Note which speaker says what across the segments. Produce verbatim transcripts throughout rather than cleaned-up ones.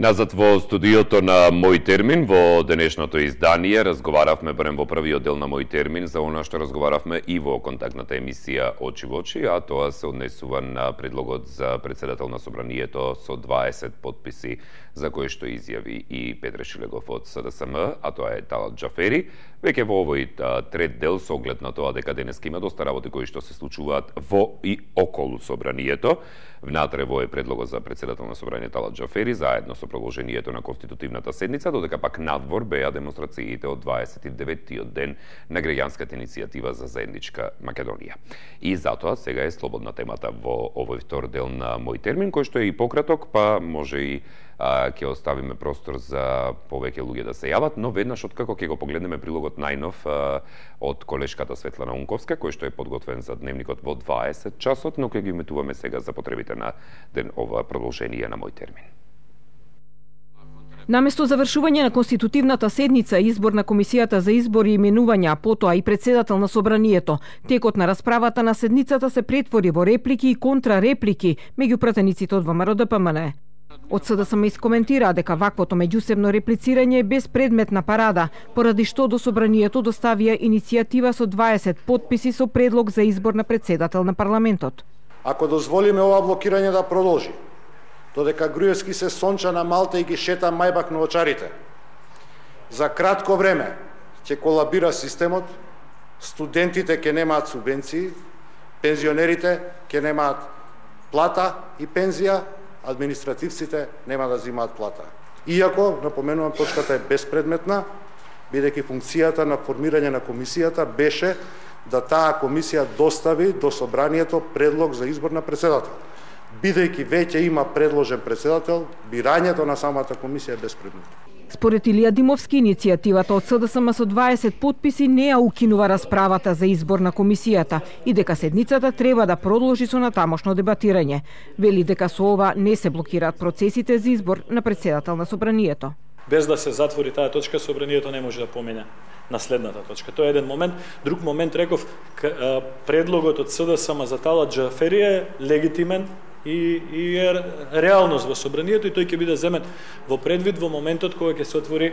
Speaker 1: Назад во студиото на Мој термин, во денешното издание, разговаравме барем во првиот дел на Мој термин за она што разговаравме и во контактната емисија Очи во очи, а тоа се однесува на предлогот за председател на Собранието со дваесет подписи, за кој што изјави и Петре Шилегов од С Д С М, а тоа е Талат Џафери. Веќе во овој трет дел, со оглед на тоа дека денеска има доста работи кои што се случуваат во и околу Собранието, внатре во е предлогот за председател на Собранието Талат Џафери, заедно со продолжението на конститутивната седница, додека пак надвор беа демонстрациите од дваесет и деветиот ден на граѓанската иницијатива за заедничка Македонија. И затоа сега е слободна темата во овој втор дел на Мој термин, кој што е и пократок, па може и а, ќе оставиме простор за повеќе луѓе да се јават, но веднаш откако ќе го погледнеме прилогот најнов а, од колешката Светлана Унковска, кој што е подготвен за дневникот во дваесет часот, но ќе ги иметуваме сега за потребите на ден ова продолжение на Мој термин.
Speaker 2: Наместо завршување на конститутивната седница и избор на Комисијата за избори и именувања, а потоа и председател на Собранието, текот на расправата на седницата се претвори во реплики и контрареплики меѓу пратениците од Вэ М Р Д П М Н. Од С Д С М искоментираа дека ваквото меѓусебно реплицирање е безпредметна парада, поради што до Собранието доставија иницијатива со дваесет подписи со предлог за избор на председател на парламентот.
Speaker 3: Ако дозволиме ова блокирање да продолжи, додека Груевски се сонча на Малта и ги шета мајбак на очарите, за кратко време ќе колабира системот, студентите ќе немаат субвенции, пензионерите ќе немаат плата и пензија, административците нема да земаат плата. Иако, напоменувам, точката е безпредметна, бидејќи функцијата на формирање на комисијата беше да таа комисија достави до Собранието предлог за избор на председател. Бидејќи веќе има предложен председател, бирањето на самата комисија е безпредметно.
Speaker 2: Според Илија Димовски, иницијативата од С Д С М со дваесет подписи не ја укинува расправата за избор на комисијата и дека седницата треба да продолжи со натамошно дебатирање. Вели дека со ова не се блокираат процесите за избор на председател на Собранието.
Speaker 4: Без да се затвори таа точка, Собранието не може да помине на следната точка. Тоа е еден момент. Друг момент, реков, предлогот од С Д С М за Талат Џафери е легитимен и, и е реалност во Собранието и тој ќе биде земен во предвид во моментот кога ќе се отвори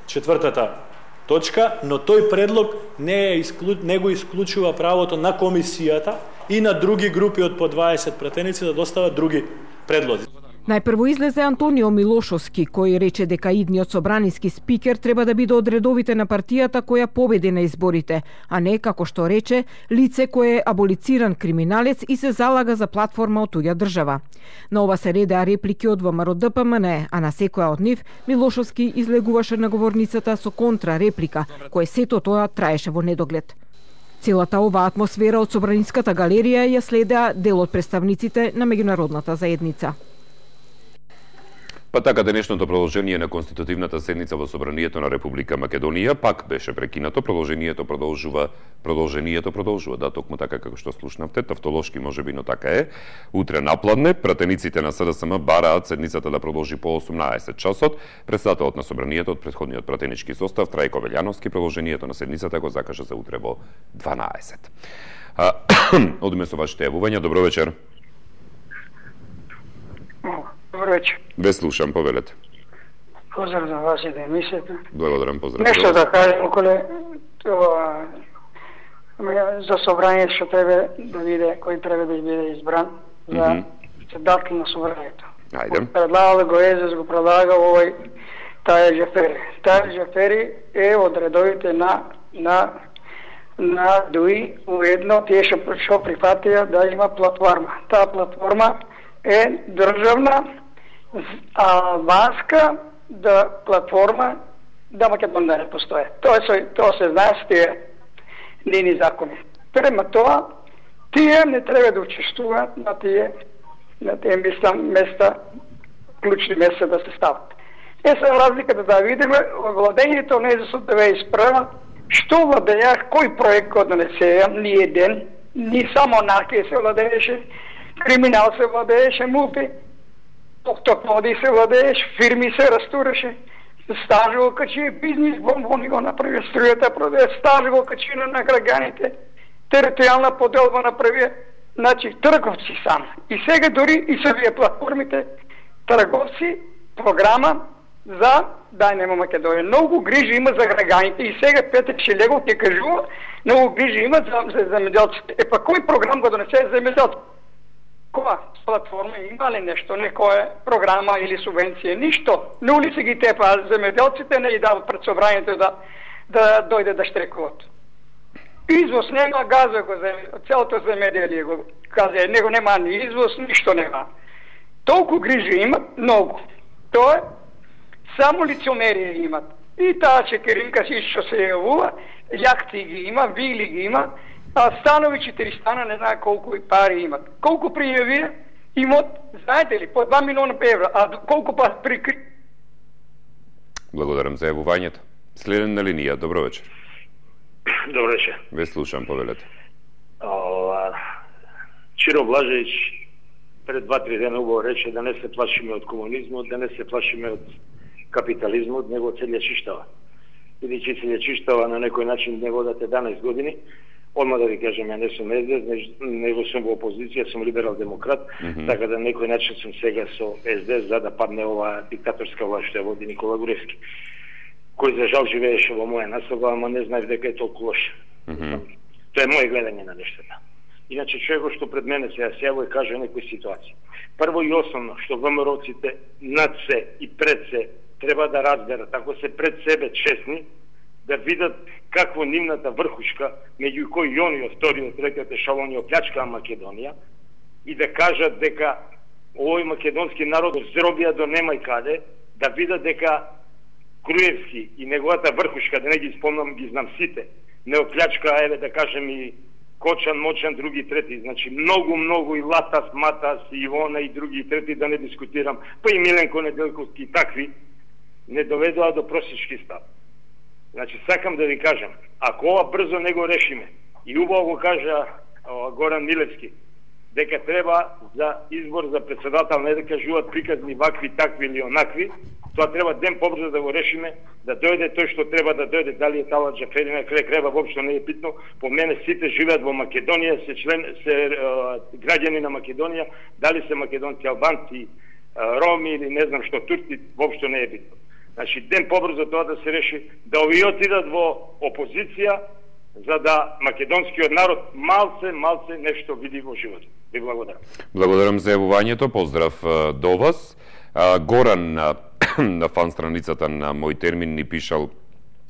Speaker 4: четвртата точка, но тој предлог не, е исклю... не го исклучува правото на комисијата и на други групи од по дваесет пратеници да достават други предлози.
Speaker 2: Најпрво излезе Антонио Милошовски, кој рече дека идниот собраниски спикер треба да биде од редовите на партијата која победи на изборите, а не, како што рече, лице кое е аболициран криминалец и се залага за платформа од туѓа држава. На ова се редеа реплики од Вэ М Р Д П М Н, а на секоја од нив Милошовски излегуваше на говорницата со контрареплика, кој сето тоа траеше во недоглед. Целата оваа атмосфера од Собраниската галерија ја следеа дел од представниците на меѓународната заедница.
Speaker 1: Па така, денешното продолжение на конститутивната седница во Собранието на Република Македонија пак беше прекинато. Продолжението продолжува, продолжението продолжува, да, токму така како што слушнавте, тавтолошки можеби, но така е. Утре напладне пратениците на С Д С М бараат седницата да продолжи по осумнаесет часот. Председателот на Собранието од претходниот пратенички состав Трајко Велјановски продолжението на седницата го закажа за утре во дванаесет. Одиме со вашите јавувања. Добро вечер.
Speaker 5: Добро вечер.
Speaker 1: Ве слушам, повелете.
Speaker 5: Поздрав за вас и да емисијата.
Speaker 1: Благодарам, поздрав.
Speaker 5: Нешто да кажем околе тоа за собрање што треба да биде, кој треба да биде избран за председател на собранието.
Speaker 1: Ајде.
Speaker 5: Предлагал го Езес, го предлагал овој Талат Џафери. Талат Џафери е од редовите на на на ДУИ, уедно тие што прифатија да има платформа. Таа платформа е државна, албанска да платформа да Македонија не постои. Тоа се тоа се знае с тие нени закони. Према тоа, тие не треба да учествуваат на тие на тие места, места клучни места да се стават. Е се разликата да видиме владењето не за да ве испрема што владеја, кој проект го донесеја, ни еден, ни само наркија се владееше, криминал се владееше, мулти, токтоклоди се владееше, фирми се растураше, стаж го качи, бизнес бомбони го направи, струјата продаде, стаж го качи на граѓаните, територијална поделба направи, значи трговци сам. И сега дори и се вие платформите, трговци програма за да нема Македонија. Многу грижи има за граѓаните и сега Петър Шилегов ќе кажува, многу грижи има за, за земјоделците. Е па кој програм го донесе за земјоделците? Која платформа има ли нешто, некоја програма или субвенција? Ништо. На улица ги тепа земјоделците, не ги дават пред собранието да да дојде да штрекуват. Извоз нема, газа го земе, целото земјоделие го каза, него нема ни извоз, ништо нема. Толку грижи имат, многу. Тоа е само лицемерие имат. И таа Чекеринка си што се јавува, јахти ги има, вили ги има, а станови четири стана не знае колку и пари имат. Колку пријави имат, знаете ли, по два милиона евра, а колку па прикри...
Speaker 1: Благодарам за јавувањето. Следен на линија, добро вечер.
Speaker 6: Добро вечер.
Speaker 1: Ве слушам, повелете.
Speaker 6: Ова, Чиро Блажеvić пред два-три дена убаво рече да не се плашиме од комунизмот, да не се плашиме од капитализмот, него од селјачиштава. Бидејќи селјачиштава на некој начин не водат еднанаесет години, одма да ви кажам, ја не сум Ес Де Ес, него сум во опозиција, сум либерал-демократ, mm -hmm. така да на некој начин сум сега со Ес Де Ес за да падне оваа диктаторска власт што ја води Никола Груевски, кој за жал живееше во моја населба, ама не знаев дека е толку лош. Mm -hmm. Тоа е моје гледање на нештата. Иначе човекот што пред мене се јавува и каже некои ситуации. Прво и основно што ВМРО-ците над се и пред се треба да разберат, ако се пред себе честни, да видат какво нивната врхушка, меѓу кои и они од вториот, третиот ешалон ја оплячкаа Македонија, и да кажат дека овој македонски народ зробија до немај каде, да видат дека Груевски и неговата врхушка, да не ги спомнам, ги знам сите, не оплячкаа, еве да кажем и Кочан, Мочан, други трети, значи многу, многу и Латас, Матас, и Ивона и други трети, да не дискутирам, па и Миленко Неделковски и такви, не доведоа до просечки став. Значи, сакам да ви кажам, ако ова брзо не го решиме, и убаво го кажа о, Горан Милевски, дека треба за избор за председател не да кажуваат приказни вакви, такви или онакви, тоа треба ден побрзо да го решиме, да дојде тој што треба да дојде, дали е Талат Џафери на крај крајва, воопшто не е битно. По мене сите живеат во Македонија, се член, се е, граѓани на Македонија, дали се македонци, албанци, роми или не знам што турци, воопшто не е битно. Значи ден побрзо тоа да се реши, да овие отидат во опозиција, за да македонскиот народ малце, малце нешто види во животот. Ви благодарам.
Speaker 1: Благодарам за јавувањето, поздрав до вас. Горан на фан страницата на Мој термин ни пишал,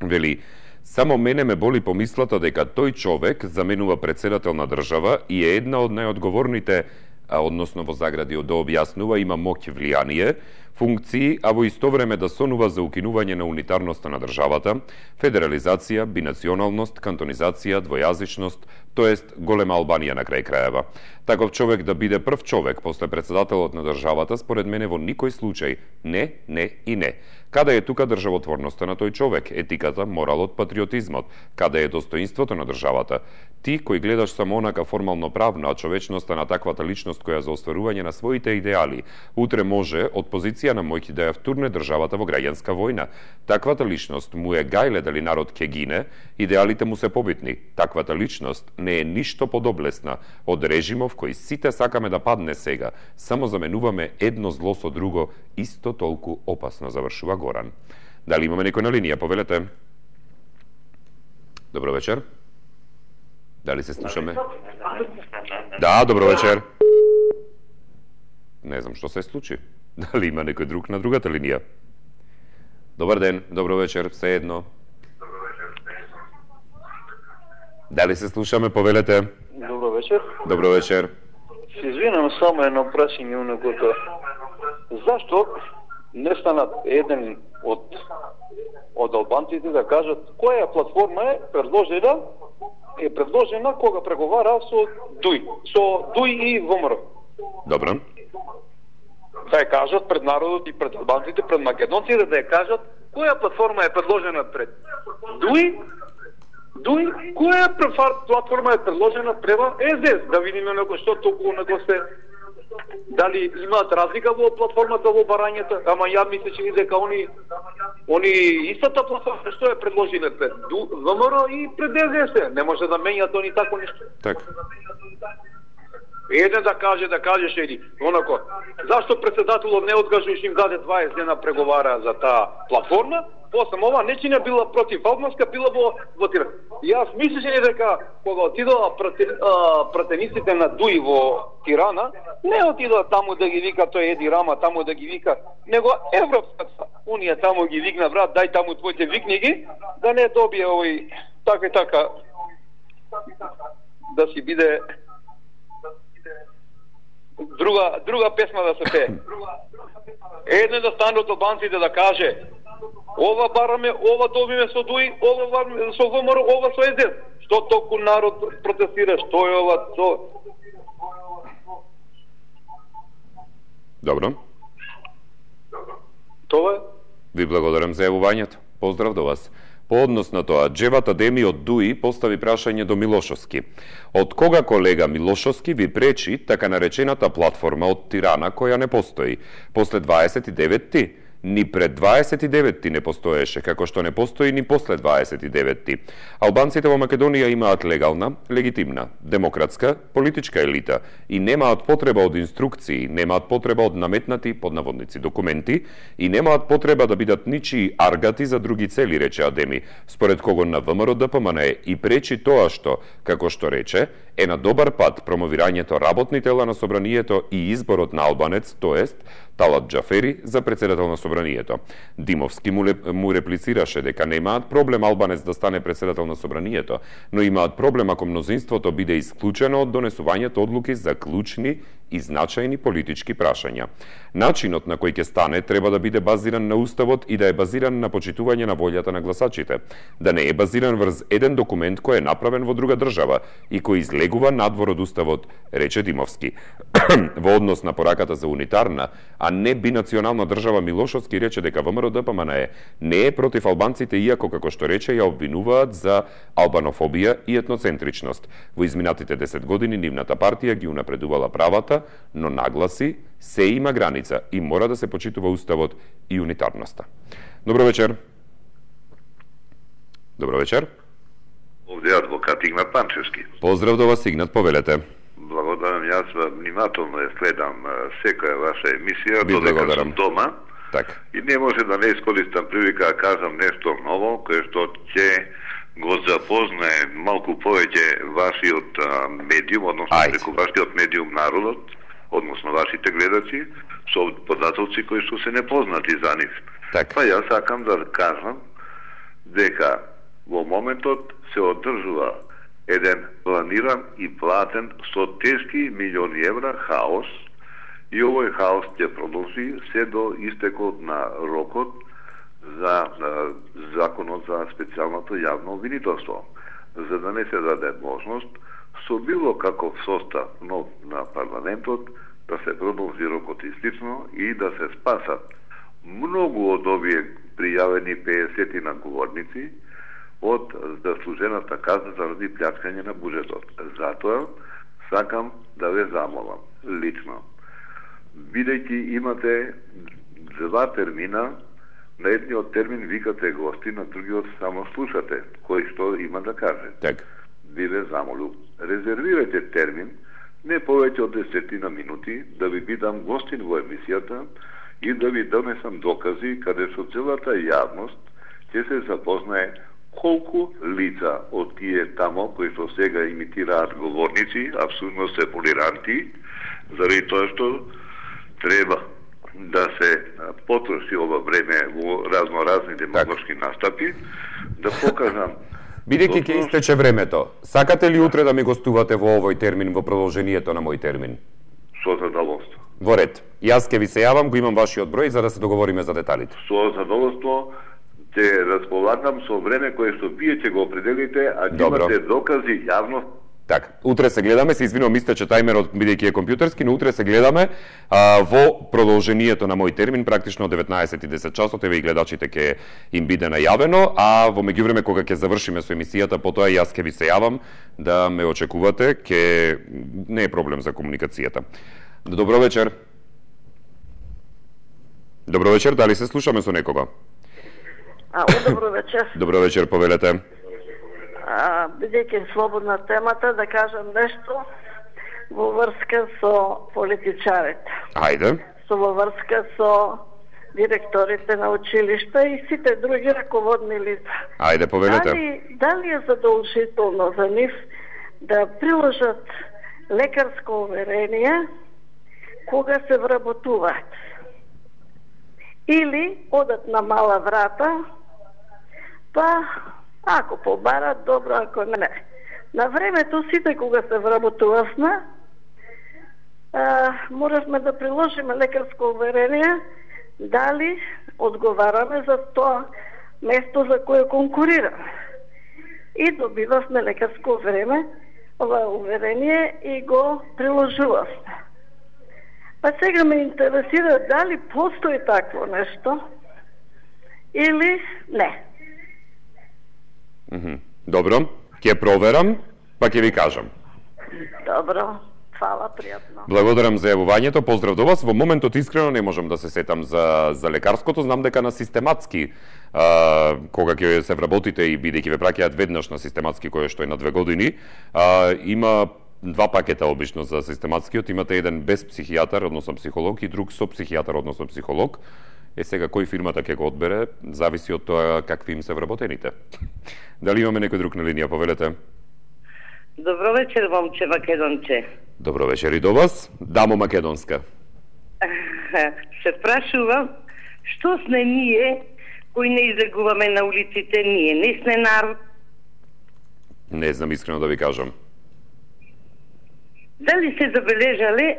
Speaker 1: вели, само мене ме боли помислата дека тој човек заменува председател на држава и е една од најодговорните, односно во загради да објаснува, има моќ, влијание, функции, а во исто време да сонува за укинување на унитарноста на државата, федерализација, бинационалност, кантонизација, двојазичност, тоест голема Албанија на крај крајева. Таков човек да биде прв човек после председателот на државата, според мене во никој случај не, не и не. Каде е тука државотворноста на тој човек, етиката, моралот, патриотизмот? Каде е достоинството на државата? Ти кој гледаш само онака формално правно, а човечноста на таквата личност која за остварување на своите идеали, утре може од позиција на моќ да ја втурне државата во граѓанска војна. Таквата личност му е гајле дали народ ке гине, идеалите му се побитни. Таквата личност не е ништо подоблесна од режимов кој сите сакаме да падне сега. Само заменуваме едно зло со друго, исто толку опасно, завршува Горан. Дали имаме некој на линија? Повелете. Добро вечер. Дали се слушаме? Да, добро вечер. Не знам што се случи. Дали има некој друг на другата линија? Добар ден, добро вечер, се едно. Дали се слушаме? Повелете.
Speaker 7: Добро вечер.
Speaker 1: Добро вечер.
Speaker 7: Се извинам, само едно прашање унекото. Зашто не станат еден од од албанците да кажат која платформа е предложена е предложена кога преговара со ДУИ, со ДУИ и ВМРО.
Speaker 1: Добро.
Speaker 7: Да ја кажат пред народот и пред албанците, пред македонците, да ја кажат која платформа е предложена пред ДУИ, ДУИ, која платформа е предложена прева Ес Де Ес, да видиме некој што толку него се дали имаат разлика во платформата во барањето, ама ја мисле че дека они они истата платформа што е предложиле пред Вэ Ем Ер и пред Ес Де Ес, не може да менјат они тако нешто.
Speaker 1: Така.
Speaker 7: Еден да каже, да кажеш еди, онако. Зашто председателот не откажуваш им даде дваесет дена преговара за таа платформа? После ова не била против Албанска, била во во Тирана. Јас мислеше дека кога отидоа пратениците на Дуи во Тирана, не отидоа таму да ги вика тој Еди Рама, таму да ги вика, него Европската унија таму ги викна, брат, дај таму твоите викни ги, да не добие овој така и така да си биде друга друга песма да се пее. Еден да стане од албанците да каже: ова бараме, ова добиме со Дуи, ова бараме со ВМРО, ова со ЕС. Што толку народ протестира, што е ова, со...
Speaker 1: Добро.
Speaker 7: Тоа е.
Speaker 1: Ви благодарам за јавувањето. Поздрав до вас. По однос на тоа, Джеват Адеми од Дуи постави прашање до Милошовски. Од кога колега Милошовски ви пречи така наречената платформа од Тирана која не постои? После дваесет и деветти? Ни пред дваесет и деветти не постоеше, како што не постои ни после дваесет и деветти. Албанците во Македонија имаат легална, легитимна, демократска, политичка елита и немаат потреба од инструкции, немаат потреба од наметнати под наводници документи и немаат потреба да бидат ничии аргати за други цели, рече Адеми, според кого на ВМРО Д П М Н Е и пречи тоа што, како што рече, е на добар пат промовирањето работни тела на собранието и изборот на албанец, тоест Талат Џафери за председател на собранието. Димовски му, му реплицираше дека немаат проблем албанец да стане председател на собранието, но имаат проблем ако мнозинството биде исклучено од донесувањето одлуки за клучни и значајни политички прашања. Начинот на кој ќе стане треба да биде базиран на уставот и да е базиран на почитување на волјата на гласачите, да не е базиран врз еден документ кој е направен во друга држава и кој излегува надвор од уставот, рече Димовски. Во однос на пораката за унитарна, а не бинационална држава, Милошовски рече дека ВМРО Д П М Н Е не е против албанците, иако, како што рече, ја обвинуваат за албанофобија и етноцентричност. Во изминатите десет години нивната партија ги унапредувала правата, но нагласи се има граница и мора да се почитува уставот и унитарноста. Добро вечер. Добро вечер.
Speaker 8: Овде адвокат Игнат Панчевски.
Speaker 1: Поздрав до вас, Игнат, повелете.
Speaker 8: Благодарам, јас внимателно ја следам секоја ваша емисија,
Speaker 1: Ви
Speaker 8: додека
Speaker 1: благодарам.
Speaker 8: сум дома.
Speaker 1: Так.
Speaker 8: И не може да не искористам прилика да кажам нешто ново, кое што ќе го запознае малку повеќе вашиот а, медиум, односно
Speaker 1: Ајде.
Speaker 8: преку вашиот медиум народот, односно вашите гледачи, со податоци кои што се непознати за нив.
Speaker 1: Так.
Speaker 8: Па јас сакам да кажам дека во моментот се одржува еден планиран и платен со тешки милиони евра хаос, и овој хаос ќе продолжи се до истекот на рокот за а, законот за специјалното јавно обвинителство, за да не се даде можност со било каков состав нов на парламентот да се продолжи рокот и слично и да се спасат многу од овие пријавени педесет на говорници од заслужената казна заради плjačкање на буџетот. Затоа сакам да ве замолам лично, бидејќи имате два термина, на едниот термин викате гости, на другиот само слушате кој што има да каже.
Speaker 1: Так.
Speaker 8: Ви ве замолу, резервирате термин не повеќе од десетина минути да ви бидам гостин во емисијата и да ви донесам докази каде со целата јавност ќе се запознае колку лица од тие тамо кои што сега имитираат говорници, абсолютно се полиранти, заради тоа што треба да се потроши ова време во разноразни демагошки настапи, да покажам.
Speaker 1: Бидејќи ќе истече времето, сакате ли утре да ми гостувате во овој термин, во продолжението на мој термин?
Speaker 8: Со задоволство.
Speaker 1: Во ред. Јас ќе ви се јавам, го имам вашиот број за да се договориме за деталите.
Speaker 8: Со задоволство ќе располагам со време кое што вие ќе го определите, а ќе имате докази јавно.
Speaker 1: Така, утре се гледаме, се извинувам, истече тајмерот бидејќи е компјутерски, но утре се гледаме а, во продолжението на мој термин, практично од деветнаесет и десет часот, еве и гледачите ќе им биде најавено, а во меѓувреме кога ќе завршиме со емисијата, потоа јас ќе ви се јавам да ме очекувате, ќе не е проблем за комуникацијата. Добро вечер. Добро вечер, дали се слушаме со некого?
Speaker 9: А, добро вечер.
Speaker 1: Добро вечер, повелете.
Speaker 9: А, бидејќи слободна темата, да кажам нешто. во врска со политичарите.
Speaker 1: Ајде.
Speaker 9: Со во врска со директорите на училишта и сите други раководни лица.
Speaker 1: Ајде, повелете.
Speaker 9: Дали, дали е задолжително за нив да приложат лекарско уверение кога се вработуваат? Или одат на мала врата, па ако побарат, добро, ако не. На времето сите кога се вработувавме, моравме да приложиме лекарско уверение дали одговараме за тоа место за кое конкурираме. И добивавме лекарско време, ова уверение и го приложувавме. Па сега ме интересира дали постои такво нешто или не.
Speaker 1: Mm-hmm. Добро, ќе проверам, па ќе ви кажам.
Speaker 9: Добро. Фала, пријатно.
Speaker 1: Благодарам за јавувањето, поздрав до вас. Во моментот искрено не можам да се сетам за, за лекарското, знам дека на систематски, а, кога ќе се вработите и бидејќи ве праќаат веднаш на систематски, кој што е на две години, а, има два пакета обично за систематскиот, имате еден без психијатар, односно психолог, и друг со психијатар, односно психолог. Е сега кој фирмата ќе го одбере, зависи од тоа какви им се вработените. Дали имаме некој друг на линија, повелете?
Speaker 10: Добро вечер, момче македонче.
Speaker 1: Добро вечер и до вас. Дамо македонска.
Speaker 10: Се прашувам, што сме ние кои не излегуваме на улиците, ние не сме народ?
Speaker 1: Не знам искрено да ви кажам.
Speaker 10: Дали се забележале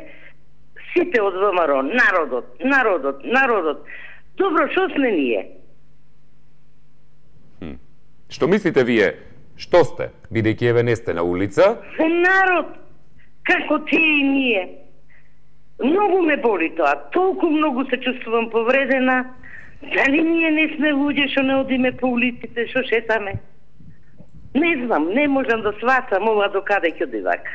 Speaker 10: сите од ВМРО, народот, народот, народот. Добро, што сме ние?
Speaker 1: Хм. Што мислите вие? Што сте? Бидејќи еве не сте на улица?
Speaker 10: За народ, како тие и ние. Многу ме боли тоа, толку многу се чувствувам повредена. Дали ние не сме луѓе што не одиме по улиците, што шетаме? Не знам, не можам да сватам ова до каде ќе оди вака.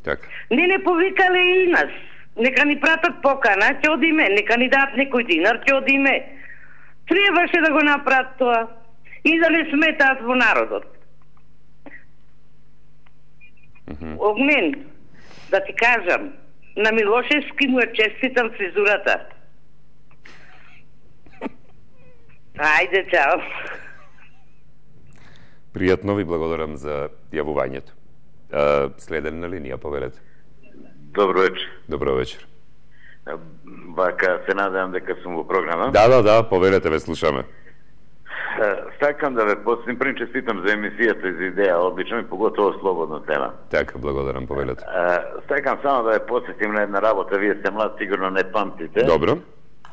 Speaker 1: Така.
Speaker 10: Не не повикале и нас. Нека ни пратат покана, ќе одиме, нека ни дадат некој динар, ќе одиме. Требаше да го направат тоа и да не сметаат во народот.
Speaker 1: Mm-hmm.
Speaker 10: Огнен, да ти кажам, на Милошевски му е честитам фризурата. Ајде, чао.
Speaker 1: Пријатно, ви благодарам за јавувањето. Следен на линија, повелете.
Speaker 11: Добро вечер.
Speaker 1: Добро вечер.
Speaker 11: Вака, се надевам дека сум во програма.
Speaker 1: Да, да, да, повелете, ве слушаме.
Speaker 11: Сакам да ве посетим, прим честитам за емисијата и за идеја, одлично и поготово слободна тема.
Speaker 1: Така, благодарам, повелете.
Speaker 11: Сакам само да ве посетим на една работа, вие сте млад, сигурно не памтите.
Speaker 1: Добро.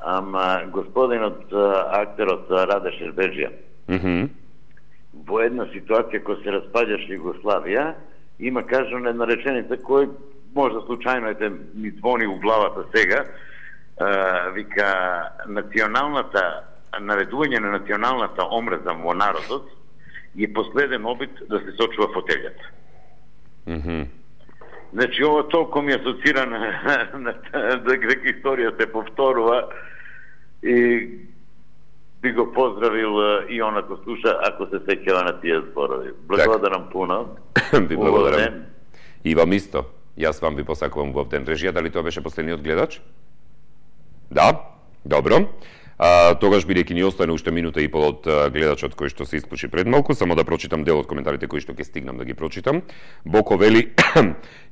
Speaker 11: Ама господинот актерот Раде Шербеджија,
Speaker 1: mm-hmm.
Speaker 11: во една ситуација која се распаѓаше Југославија, има кажано една реченица кој може случајно ете ми звони у главата сега, а, вика националната наведување на националната омраза во народот е последен обид да се сочува фотелјата.
Speaker 1: Mm-hmm.
Speaker 11: Значи, ова толку ми асоцира на, на, на дека историја се повторува и би го поздравил и она кој слуша, ако се сеќава на тие зборови. Благодарам пуно.
Speaker 1: Ви благодарам. И вам исто. Јас вам ви посакувам убав ден. Режија, дали тоа беше последниот гледач? Да? Добро. А, тогаш, бидејќи ни остане уште минута и пол од гледачот кој што се исклучи пред малку, само да прочитам дел од коментарите кои што ќе стигнам да ги прочитам. Боко вели,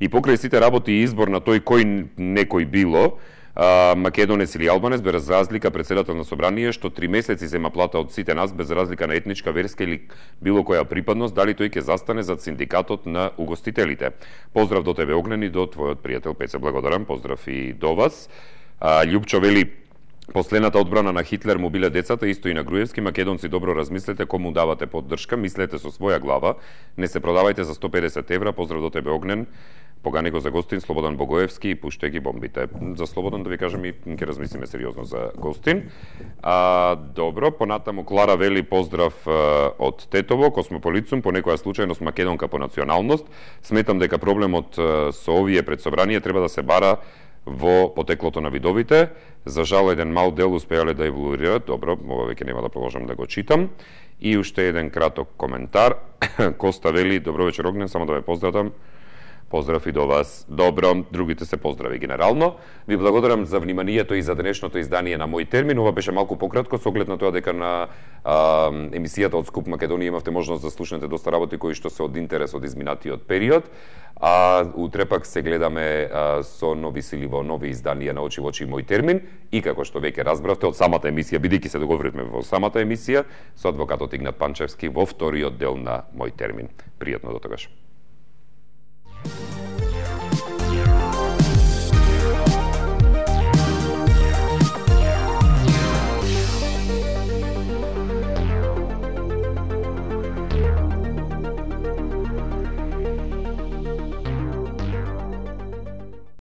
Speaker 1: и покрај сите работи и избор на тој кој некој било, а, македонец или албанец, без разлика председател на собрание, што три месеци зема плата од сите нас, без разлика на етничка, верска или било која припадност, дали тој ќе застане зад синдикатот на угостителите. Поздрав до тебе, Огнен, и до твојот пријател Пеце. Благодарам, поздрав и до вас. А, Љупчо вели, последната одбрана на Хитлер му биле децата, исто и на Груевски. Македонци, добро размислете кому давате поддршка, мислете со своја глава, не се продавајте за сто и педесет евра. Поздрав до тебе, Огнен. Погани го за гостин Слободан Богоевски и пуштај ги бомбите. За Слободан, да ви кажам, и ќе размислиме сериозно за гостин. А, добро, понатаму Клара вели, поздрав а, од Тетово, космополицум, по некоја случајност македонка по националност. Сметам дека проблемот а, со овие пред собрание треба да се бара во потеклото на видовите. За жал, еден мал дел успеале да еволуират. Добро, ова веќе нема да продолжам да го читам. И уште еден краток коментар. Коста вели, добро вечер, Огнен, само да ве поздравам. Поздрав и до вас. Добро, другите се поздрави генерално. Ви благодарам за вниманието и за денешното издание на Мој термин. Ова беше малку пократко со оглед на тоа дека на а, емисијата од Скуп Македонија имавте можност да слушнете доста работи кои што се од интерес од изминатиот период. А утре пак се гледаме а, со нови сили во нови изданија на Очи во очи Мој термин и како што веќе разбравте од самата емисија, бидејќи се договоривме во самата емисија со адвокатот Игнат Панчевски во вториот дел на Мој термин. Пријатно до тогаш.